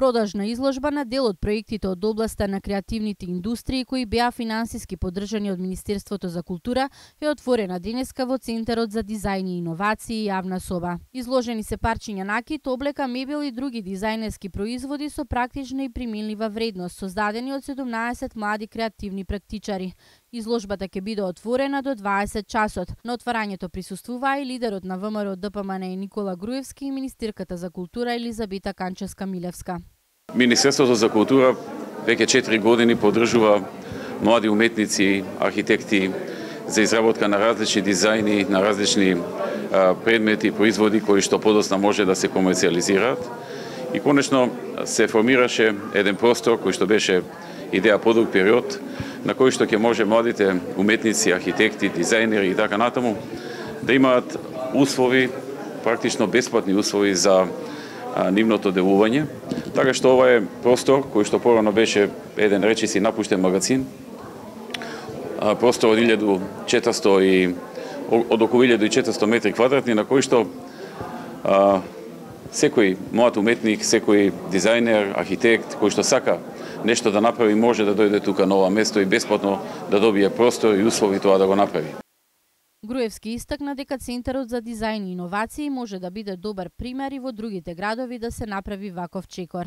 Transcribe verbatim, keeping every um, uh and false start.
Продажна изложба на дел од проектите од областа на креативните индустрии кои беа финансиски поддржани од Министерството за култура е отворена денеска во Центарот за дизајн и иновации јавна соба. Изложени се парчиња накит, облека, мебел и други дизајнерски производи со практична и примилива вредност, создадени од седумнаесет млади креативни практичари. Изложбата ќе биде отворена до дваесет часот. На отварањето присуствуваа и лидерот на ВМРО Д П М Н Никола Груевски и министерката за култура Елизабета Канчевска-Милевска. Министерството за култура веќе четири години поддржува млади уметници, архитекти за изработка на различни дизајни, на различни а, предмети, производи кои што подоцна може да се комерцијализираат. И конечно се формираше еден простор кој што беше идеја подолг период, на кој што ќе може младите уметници, архитекти, дизајнери и така натаму да имаат услови, практично бесплатни услови за а, нивното делување. Така што ова е простор кој што порано беше еден речиси напуштен магазин, а, простор од илјаду и четиристото и од околу илјаду и четиристото метри квадратни, на кој што а, секој млад уметник, секој дизајнер, архитект кој што сака нешто да направи може да дојде тука на ова место и бесплатно да добие простор и услови тоа да го направи. Груевски истакна дека Центарот за дизајн и иновации може да биде добар пример и во другите градови да се направи ваков чекор.